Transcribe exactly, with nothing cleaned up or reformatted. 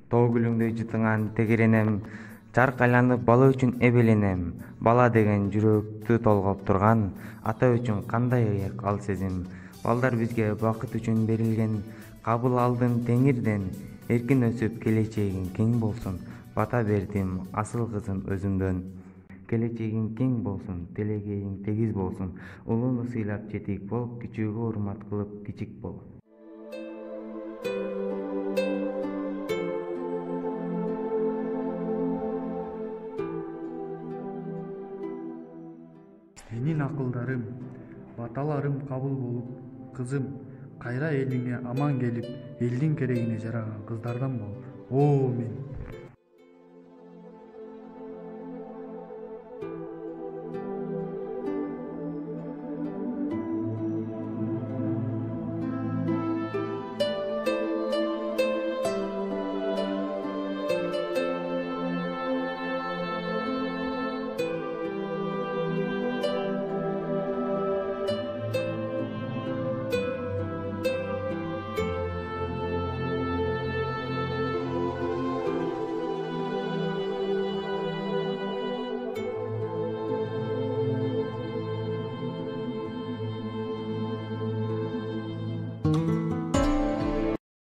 Тоо гүлүңдөй жытыңан тегеренем, чарк айланып бала үчүн эбеленем. Бала деген жүрөктү толгоп турган, ата үчүн кандай ыйык ал сезим. Балдар бизге бакыт үчүн берилген, кабыл алдым Теңирден. Эркин өсүп келечегиң кең болсун, бата бердим асыл кызым өзүмдөн. Келечегиң кең болсун, телегейиң тегиз болсун, улууну сыйлап жетик бол, кичүүгө урмат кылып кичик бол. Менин акылдарым, баталарым кабыл болуп, кызым, кайра элиңе аман келип, элдин керегине жараган кыздардан бол. О мен